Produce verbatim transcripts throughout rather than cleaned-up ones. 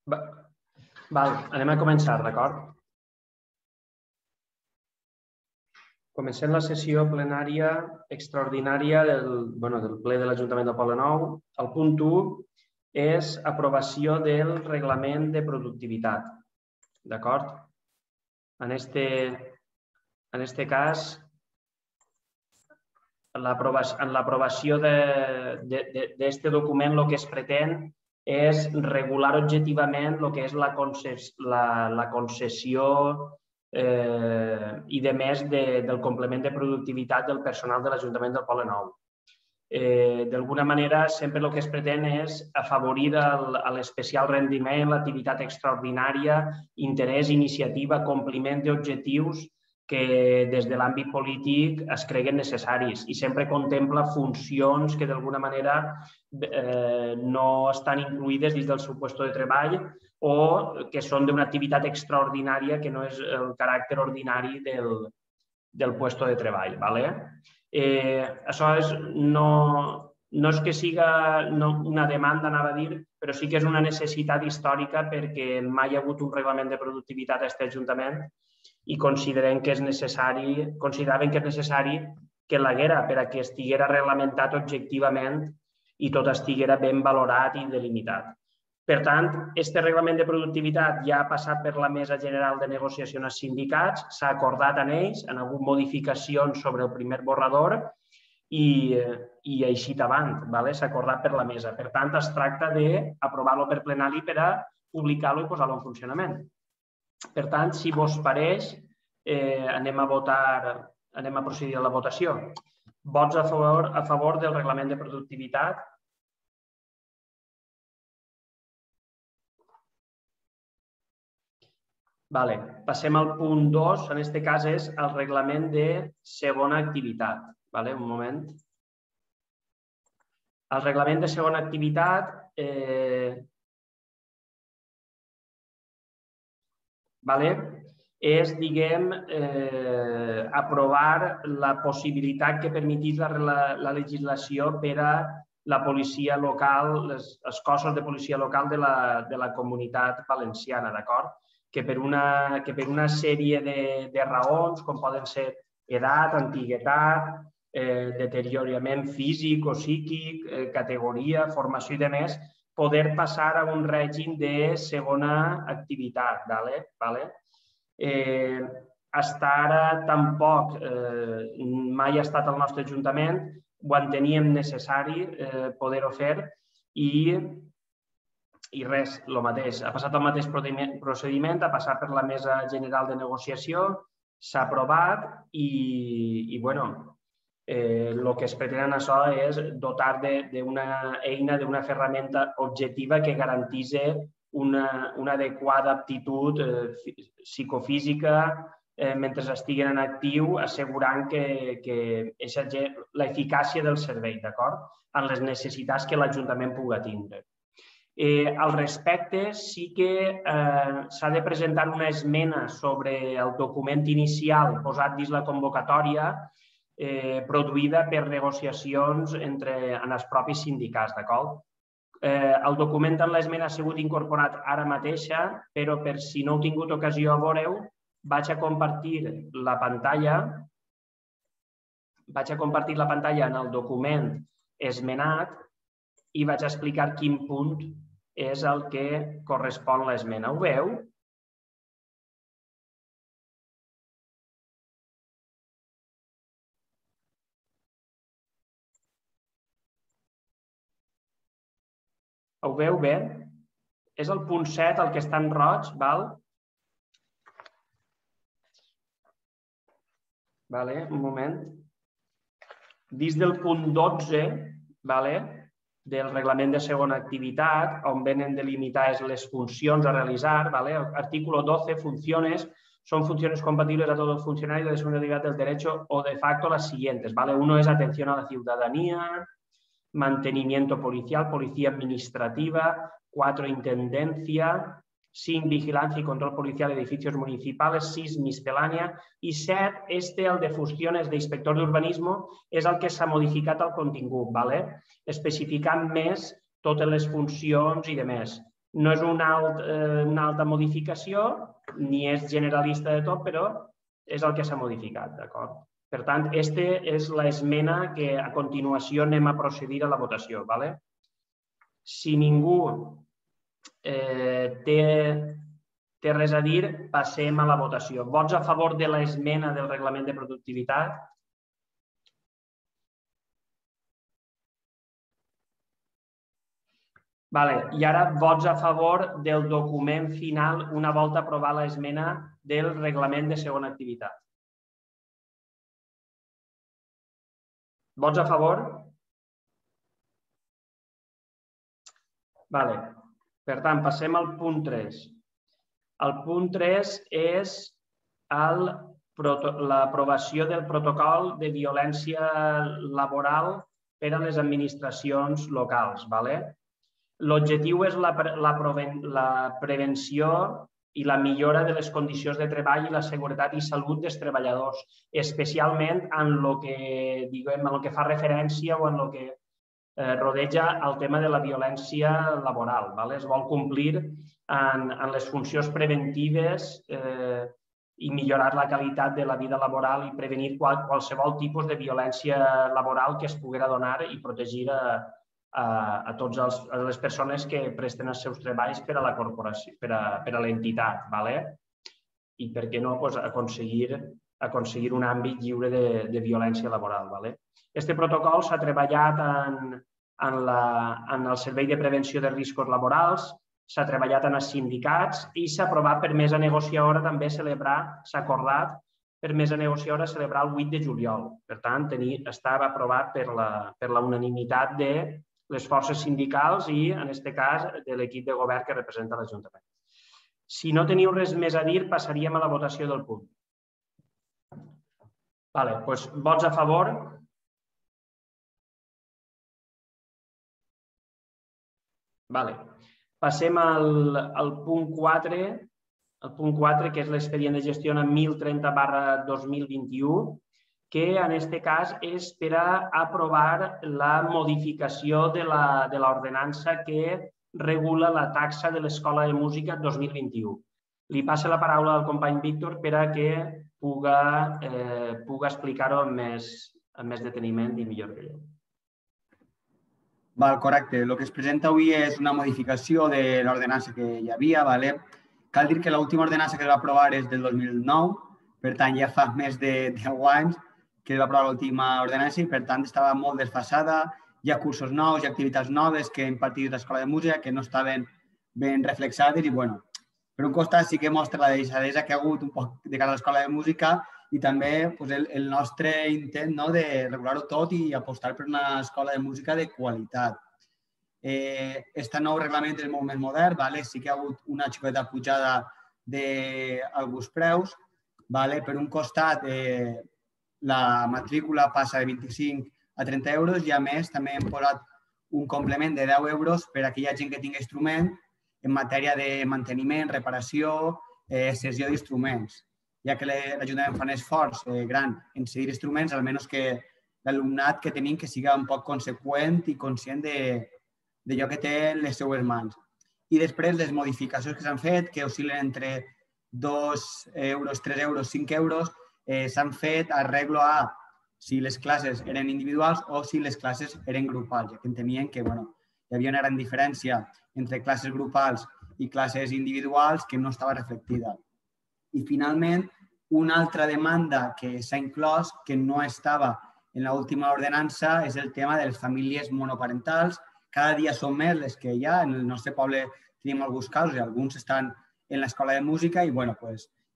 Val, anem a començar, d'acord? Comencem la sessió plenària extraordinària del, bueno, del ple de l'Ajuntament de Poblenou. El punt u és aprovació del reglament de productivitat. D'acord? En este, en este cas, en l'aprovació d'aquest document el que es pretén és regular objectivament el que és la, concessió, la, la concessió eh, i de més de, del complement de productivitat del personal de l'Ajuntament del Poblenou. Eh, D'alguna manera, sempre el que es pretén és afavorir l'especial rendiment, l'activitat extraordinària, interès, iniciativa, compliment d'objectius que des de l'àmbit polític es creguen necessaris i sempre contempla funcions que d'alguna manera eh, no estan incluïdes dins del seu lloc de treball o que són d'una activitat extraordinària que no és el caràcter ordinari del, del lloc de treball. ¿vale? Eh, això és, no, no és que siga no, una demanda, anava a dir, però sí que és una necessitat històrica perquè mai hi ha hagut un reglament de productivitat a aquest Ajuntament i considerem que és necessari, consideraven que és necessari que l'haguera per a que estiguera reglamentat objectivament i tot estiguera ben valorat i delimitat. Per tant, aquest reglament de productivitat ja ha passat per la Mesa General de Negociació als sindicats, s'ha acordat en ells, han hagut modificacions sobre el primer borrador i, i així davant, ¿vale? S'ha acordat per la mesa. Per tant, es tracta d'aprovar-lo per plenari per a publicar-lo i posar-lo en funcionament. Per tant, si vos pareix, eh, anem a votar, anem a procedir a la votació. Vots a favor, a favor del reglament de productivitat? Vale. Passem al punt dos, en aquest cas és el reglament de segona activitat. Vale? Un moment. El reglament de segona activitat eh, Vale? És, diguem, eh, aprovar la possibilitat que permetís la, la, la legislació per a la policia local, les, els cossos de policia local de la, de la comunitat valenciana, d'acord? Que per una, que per una sèrie de, de raons, com poden ser edat, antiguitat, eh, deteriorament físic o psíquic, eh, categoria, formació i demés, poder passar a un règim de segona activitat. ¿vale? ¿vale? Eh, hasta ara tampoc eh, mai ha estat al nostre Ajuntament, ho enteníem necessari eh, poder-ho fer i, i res, el mateix. Ha passat el mateix procediment, ha passat per la Mesa General de Negociació, s'ha aprovat i, i bueno, Eh, el que es pretén en això és dotar d'una eina, d'una ferramenta objectiva que garantís una, una adequada aptitud eh, psicofísica eh, mentre estiguen en actiu, assegurant que, que l'eficàcia del servei, d'acord? En les necessitats que l'Ajuntament pugui tindre. Eh, al respecte, sí que eh, s'ha de presentar una esmena sobre el document inicial posat dins la convocatòria Eh, produïda per negociacions entre, en els propis sindicats, d'acord? Eh, el document en l'esmena ha sigut incorporat ara mateixa, però per si no heu tingut ocasió a veure-ho, vaig a compartir la pantalla, vaig a compartir la pantalla en el document esmenat i vaig a explicar quin punt és el que correspon a l'esmena. Ho veu? Ho veu bé? És el punt set, el que està en roig, val? Vale, un moment. Dins del punt dotze, vale, del reglament de segona activitat, on venen delimitades les funcions a realitzar, vale? Artículo doce, funciones, son funciones compatibles a todo funcionario de segunda actividad del derecho o de facto las siguientes, vale? Uno es atención a la ciudadanía, mantenimiento policial, policía administrativa, cuatro, intendencia, cinc, vigilancia y control policial de edificios municipales, sis, miscelánea i set, este, el de funcions d'inspector d'urbanisme, és el que s'ha modificat el contingut, ¿vale? Especificant més totes les funcions i demés. No és una, alt, eh, una alta modificació, ni és generalista de tot, però és el que s'ha modificat, d'acord? Per tant, aquesta és l'esmena que a continuació anem a procedir a la votació, d'acord? Si ningú eh, té, té res a dir, passem a la votació. Vots a favor de l'esmena del reglament de productivitat? Vale. I ara vots a favor del document final una volta aprovar l'esmena del reglament de segona activitat. Vots a favor? Vale. Per tant, passem al punt tres. El punt tres és l'aprovació del protocol de violència laboral per a les administracions locals. L'objectiu és la prevenció i la millora de les condicions de treball i la seguretat i salut dels treballadors, especialment en el que, diguem, en el que fa referència o en el que rodeja el tema de la violència laboral. Es vol complir en les funcions preventives i millorar la qualitat de la vida laboral i prevenir qualsevol tipus de violència laboral que es poguera donar i protegir a totes les persones que presten els seus treballs per a la corporació, per a l'entitat. I, per què no, aconseguir un àmbit lliure de violència laboral. Aquest protocol s'ha treballat en el Servei de Prevenció de Riscos Laborals, s'ha treballat en els sindicats i s'ha aprovat per mesa negociadora també celebrar, s'ha acordat per mesa negociadora celebrar el vuit de juliol. Per tant, estava aprovat per la unanimitat de les forces sindicals i, en aquest cas, de l'equip de govern que representa l'Ajuntament. Si no teniu res més a dir, passaríem a la votació del punt. Doncs vots a favor. Passem al punt quatre, el punt quatre, que és l'expedient de gestió mil trenta barra dos mil vint-i-u, que en aquest cas és per a aprovar la modificació de l'ordenança que regula la taxa de l'Escola de Música dos mil vint-i-u. Li passo la paraula al company Víctor per a que pugui explicar-ho amb més deteniment i millor que jo. Correcte. El que es presenta avui és una modificació de l'ordenança que hi havia. Cal dir que l'última ordenança que es va aprovar és del dos mil nou, per tant ja fa més de deu anys que es va aprovar l'última ordenança i, per tant, estava molt desfasada. Hi ha cursos nous, hi ha activitats noves que ha impartit l'Escola de Música que no estaven ben reflexades i, bueno, per un costat sí que mostra la deixadesa que ha hagut un poc de cara a l'Escola de Música i també el nostre intent de regular-ho tot i apostar per una escola de música de qualitat. Aquest nou reglament és molt més modern, sí que hi ha hagut una xicoteta pujada d'alguns preus. Per un costat, la matrícula passa de vint-i-cinc a trenta euros i, a més, també hem posat un complement de deu euros per a aquella gent que tingui instrument en matèria de manteniment, reparació, cessió d'instruments. Ja que l'Ajuntament fa un esforç gran en cedir instruments, almenys que l'alumnat que tenim que sigui un poc conseqüent i conscient d'allò que té en les seues mans. I després, les modificacions que s'han fet, que oscil·len entre dos euros, tres euros, cinc euros, s'han fet arreglo a si les classes eren individuals o si les classes eren grupals, ja que entenien que hi havia una gran diferència entre classes grupals i classes individuals que no estava reflectida. I, finalment, una altra demanda que s'ha inclòs, que no estava en l'última ordenança, és el tema de les famílies monoparentals. Cada dia són més les que hi ha. En el nostre poble tenim alguns casos i alguns estan en l'escola de música i, bueno,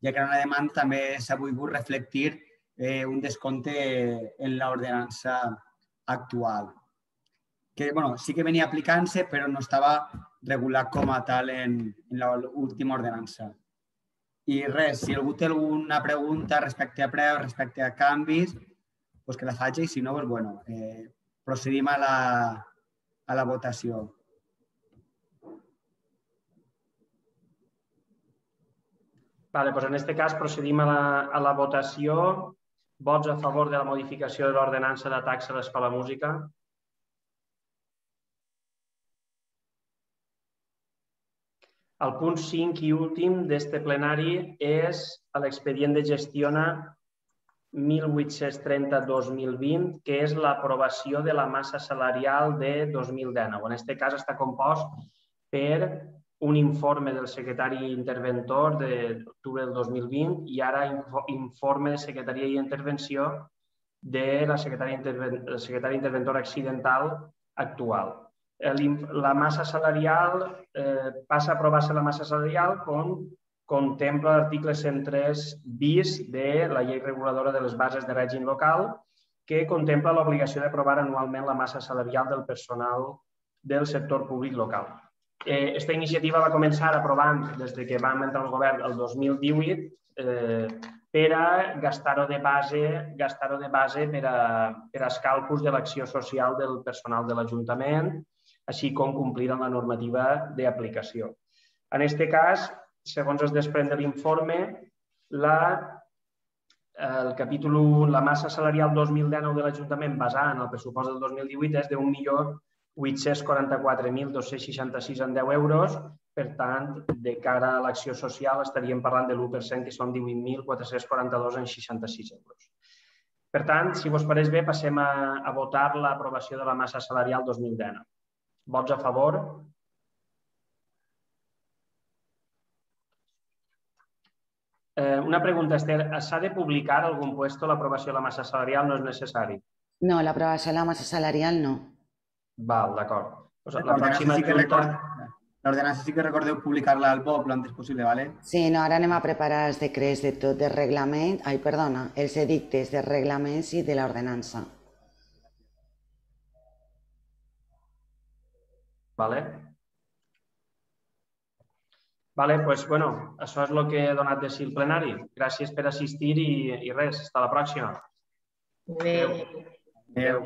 ja que era una demanda, també s'ha volgut reflectir un descompte en l'ordenança actual. Que, bueno, sí que venia aplicant-se, però no estava regulat com a tal en l'última ordenança. I res, si algú té alguna pregunta respecte a preus, respecte a canvis, que la faci i, si no, procedim a la votació. En aquest cas procedim a la votació. Vots a favor de la modificació de l'ordenança de taxa a l'Escola de Música? El punt cinc i últim d'aquest plenari és l'expedient de gestiona mil vuit-cents trenta dos mil vint, que és l'aprovació de la massa salarial de dos mil dinou. En aquest cas està compost per un informe del secretari interventor d'octubre del dos mil vint i ara informe de secretaria i intervenció de la secretària interventora accidental actual. La massa salarial passa a aprovar-se la massa salarial com contempla l'article cent tres bis de la llei reguladora de les bases de règim local, que contempla l'obligació d'aprovar anualment la massa salarial del personal del sector públic local. Aquesta iniciativa va començar aprovant des que vam entrar al govern el dos mil divuit per a gastar-ho de base gastar-ho de base per als càlculs de l'acció social del personal de l'Ajuntament, així com complir amb la normativa d'aplicació. En aquest cas, segons es desprèn de l'informe, el capítol u, la massa salarial dos mil dinou de l'Ajuntament basada en el pressupost del dos mil divuit és d'un milió vuit-cents quaranta-quatre mil dos-cents seixanta-sis en deu euros. Per tant, de cara a l'acció social estaríem parlant de l'u per cent, que són divuit mil quatre-cents quaranta-dos en seixanta-sis euros. Per tant, si vos pareix bé, passem a votar l'aprovació de la massa salarial dos mil dinou. Vots a favor? Una pregunta, Esther. S'ha de publicar a algun puesto l'aprovació de la massa salarial? No és necessari? No, l'aprovació de la massa salarial no. Val, d'acord. L'ordenança sí que recordeu publicar-la al B O P l'antes possible, ¿vale? Sí, no, ara anem a preparar els decrets de tot, de reglament, ai, perdona, els edictes de reglaments i de l'ordenança. Vale. Vale, doncs, bueno, això és el que he donat de si el plenari. Gràcies per assistir i res, fins la pròxima. Adéu. Adéu.